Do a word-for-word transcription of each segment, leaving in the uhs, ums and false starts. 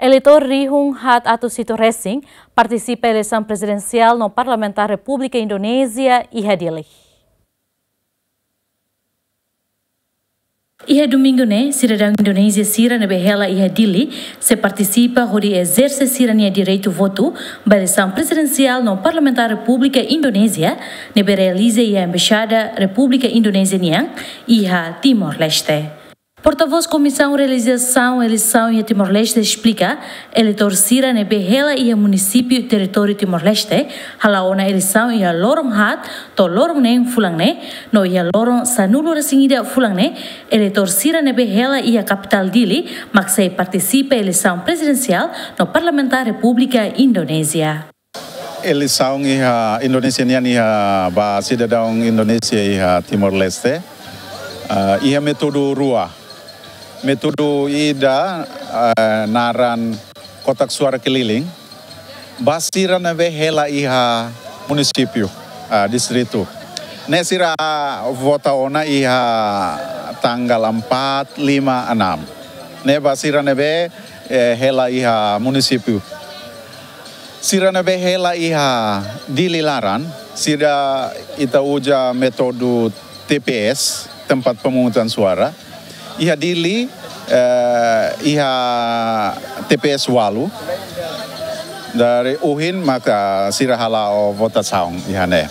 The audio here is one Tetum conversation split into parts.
Eleitór rihun haat atus hitu resin partisipa eleisaun prezidensiál no parlamentár Repúblika Indonézia iha Dili. Iha domingu ne'e, sidadaun Indonézia sira ne'ebé hela iha Dili sei partisipa hodi ezerse sira-nia direitu votu ba eleisaun prezidensiál no parlamentár Repúblika Indonézia ne'ebé realiza iha Embaixada Repúblika Indonézia nian iha Timor-Leste. Portavós Komisaun Realizasaun Eleisaun iha Timor-Leste esplika, eleitór sira ne'ebé hela iha munisípiu territóriu Timor-Leste hala'o ona eleisaun iha loron haat to'o loron neen fulan ne'e, no iha loron sanulu resin ida fulan ne'e, eleitór sira ne'ebé hela iha kapitál Dili mak sei partisipa eleisaun prezidensiál no parlamentár Repúblika Indonézia. Eleisaun iha Indonézia nian iha ba sidadaun Indonézia iha Timor-Leste, ah, iha métodu rua. Métodu ida, ah, naran kotak suara keliling. Ba sira ne'ebé hela iha munisípiu, ah, distritu. Ne'e sira vota ona iha tanggal empat, lima, enam. Ne'e ba sira ne'ebé, eh, hela iha munisípiu. Sira ne'ebé hela iha Dili laran, sira ita uza métodu T P S, tempat pemungutan suara. Iha Dili, eh, iha T P S ualu. Dari ohin maka sira hala'o votasaun iha ne'e.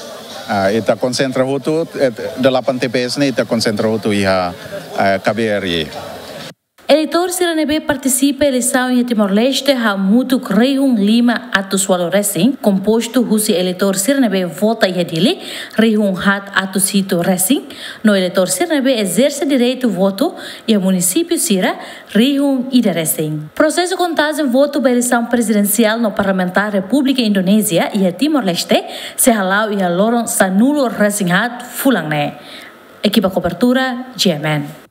Ah, ita konsentra hotu, eh, delapan T P S ne'e ita konsentra hotu iha, eh, K B R I. Eleitór sira ne'ebé partisipa eleisaun iha Timor-Leste hamutuk rihun lima atus ualu resin, kompostu husi eleitór sira ne'ebé vota iha Dili, rihun haat atus hitu resin, no eleitór sira ne'ebé ezerse direitu votu iha munisípiu sira, rihun ida resin. Prosesu kontajen votu ba eleisaun prezidensiál no parlamentár Repúblika Indonézia iha Timor-Leste sei hala'o iha loron sanulu resin haat fulan ne'e. Ekipa kobertura, G M N.